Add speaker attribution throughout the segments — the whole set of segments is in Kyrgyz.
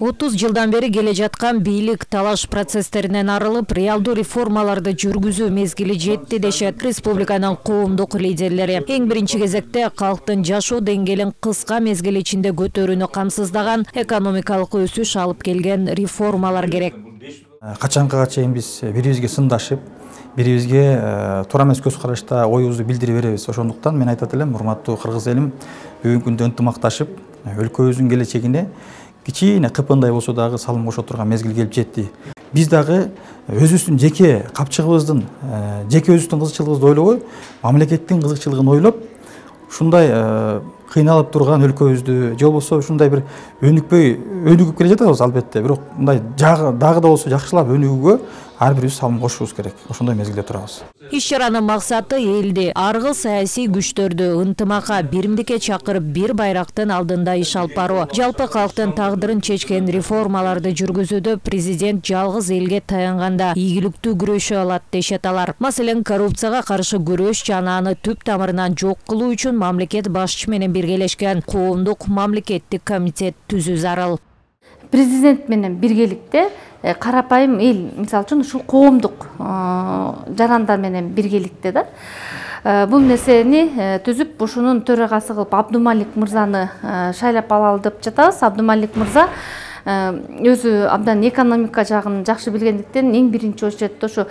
Speaker 1: 30 жылдан бери келе жаткан бийлик талаш процесстеринен арылып, реалдуу реформаларды жүргүзүү мезгили жетти дешет республиканын коомдук лидерлери. Эң биринчи кезекте калктын жашоо деңгээлин кыска мезгил ичинде көтөрүүнү камсыздаган экономикалык өсүш алып келген реформалар керек.
Speaker 2: Качанга чейин биз бири-бирибизге сындашып, бири-бирибизге туура эмес көз карашта оюбузду билдире беребиз. Ошондуктан мен айтат элем, урматтуу кыргыз элим, бүгүнкү күндө ынтымакташып, өлкөбүздүн келечегине кичине кыпындай болсо дагы салым кошо турган мезгил келип жетти. Биз дагы өзүбүздүн жеке капчыгыбыздын, жеке өзүбүздүн кызыкчылыгыбызды ойлобой, мамлекеттин кызыкчылыгын ойлоп, ушундай кыйналып турган өлкөбүздү, же болбосо ушундай бир өнүгүп келе жатабыз албетте, бирок мындай дагы да болсо жакшылап өнүгүүгө ар бирибиз салым кошушубуз керек. Ошондой мезгилде турабыз.
Speaker 1: Иш-чаранын максаты элди аргы саясий күчтөрдү ынтымакка, биримдикке чакырып, бир байрактын алдында иш алып баруу. Жалпы калктын тагдырын чечкен реформаларды жүргүзүүдө президент жалгыз элге таянганда ийгиликтүү күрөшө алат дешет алар. Маселен, коррупцияга каршы күрөш жана аны түп тамырынан жок кылуу үчүн мамлекет башчы менен биргелешкен коомдук мамлекеттик комитет түзүү зарыл.
Speaker 3: Президент менен биргеликте карапайым эл, мисалы үчүн ушул коомдук жарандар менен биргеликте да бул нерсени түзүп, ушунун төрагасы кылып Абдумалик мырзаны шайлап алалы деп жатабыз. Абдумалик мырза өзү абдан экономика жагын жакшы билгендиктен эң биринчи очередде ошо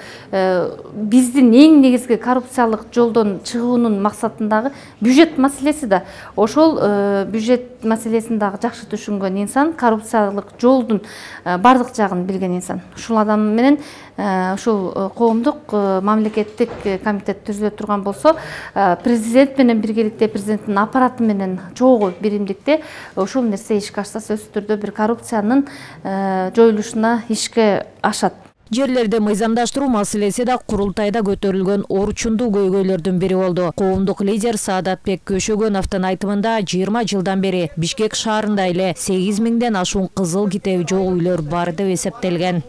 Speaker 3: биздин эң негизги коррупциялык жолдон чыгуунун максатындагы бюджет маселеси да. Ошол бюджет маселесин дагы жакшы түшүнгөн инсан, коррупциялык жолдун бардык жагын билген инсан. Ушул адам менен ушул коомдук мамлекеттик комитет түзүлө турган болсо, президент менен биргеликте, президенттин аппараты менен чогуу биримдикте ушул нерсе ишке ашса, сөзсүз түрдө бир коррупциянын жоюлушуна ишке ашат.
Speaker 1: Жерлерди мыйзамдаштыруу маселеси да курултайда көтөрүлгөн орчундуу көйгөйлөрдүн бири болду. Коомдук лидер Саадатбек Көшөгөновдун айтымында 20 жылдан бери Бишкек шаарында эле 8 миңден ашуун кызыл китеби жок үйлөр бар деп эсептелген.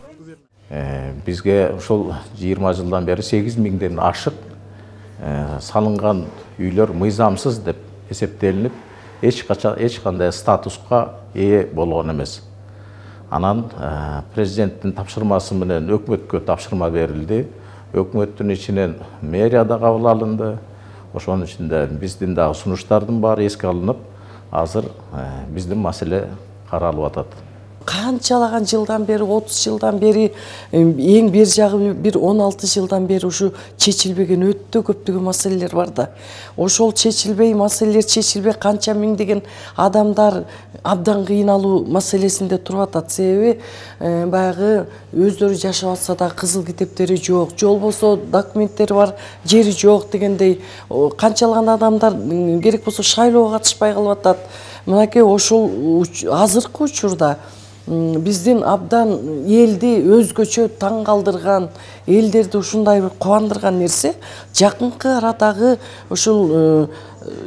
Speaker 4: Бизге ушул 20 жылдан бери 8 миңден ашык салынган үйлөр мыйзамсыз деп эсептелинип, эч кандай статуска ээ болгон эмес. Анан президенттин тапшырмасы менен өкмөткө тапшырма берилди. Өкмөттүн ичинен мэрия да кабыл алынды. Ошонун ичинде биздин дагы сунуштардын баары эске алынып, азыр биздин маселе каралып атат.
Speaker 5: Канчалаган жылдан бери, 30 жылдан бери, эң бер жагы бир 16 жылдан бери ушу чечилбеген өтө көптөгөн маселелер бар да. Ошол чечилбей, маселелер чечилбей, канча миңдеген адамдар абдан кыйналуу маселесинде туруп атат. Себеби баягы өздөрү жашап атса да кызыл китептери жок, же болбосо документтери бар, жери жок дегендей канчалаган адамдар керек болсо шайлоого катышпай калып атат. Мынакей ошол азыркы учурда биздин абдан элди өзгөчө таң калтырган, элдерди ушундай бир кубандырган нерсе жакынкы арадагы ушул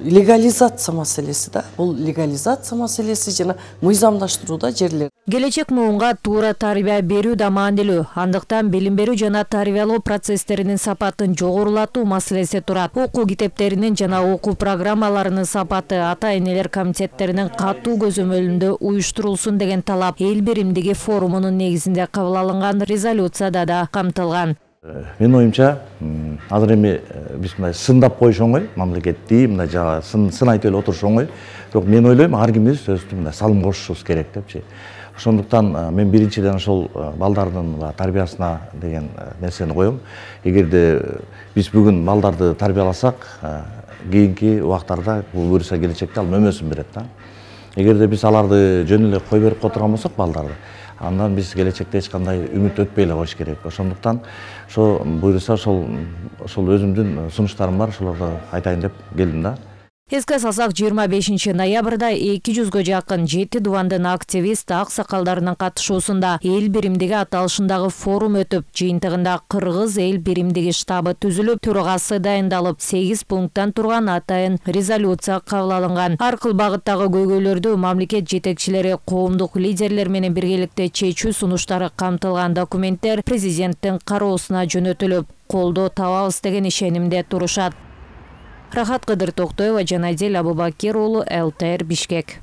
Speaker 5: легализация маселеси да. Бул легализация маселеси жана мыйзамдаштырууда жерлер.
Speaker 1: Келечек муунга туура тарбия берүү да маанилүү. Андыктан билим берүү жана тарбиялоо процесстеринин сапатын жогорулатуу маселеси турат. Окуу китептеринин жана окуу программаларынын сапаты ата-энелер комитеттеринин катуу көзөмөлүндө уюштурулсун деген талап эл биримдиги форумунун негизинде кабыл алынган резолюцияда да камтылган.
Speaker 4: Менин оюмча, азыр эми биз мындай сындап коюш оңой, мамлекетти мындай жана сын айтып эле отуруш оңой. Бирок мен ойлойм, ар кимибиз өзүбүздүн мындай салым кошушубуз керек депчи. Ошондуктан мен биринчиден ошол балдардын тарбиясына деген нерсени коем. Эгерде биз бүгүн балдарды тарбияласак, кийинки убактарда бул буюрса келечекте ал мөмөсүн берет да. Эгерде биз аларды жөн эле кой берип которгон болсок балдарды, андан биз келечекте эч кандай үмүт өтпөй эле коюш керек. Ошондуктан ошо буюрса ошол өзүмдүн сунуштарым бар, ошолорду айтайын деп келдим да.
Speaker 1: Эске салсак, 25 ноябрда 200гө жакын 7 дубандын активист аксакалдарынын катышуусунда эл биримдиги аталышындагы форум өтүп, жыйынтыгында Кыргыз эл биримдиги штабы түзүлүп, төрагасы дайындалып, 8 пункттан турган атайын резолюция кабыл алынган. Ар кыл багыттагы көйгөйлөрдү мамлекет жетекчилери, коомдук лидерлер менен биргеликте чечүү сунуштары камтылган документтер президенттин кароосуна жөнөтүлүп, колдоо табабыз деген ишенимде турушат. Рахат Кыдыр Токтоева, Жанадел Абубакир уулу, ЛТР, Бишкек.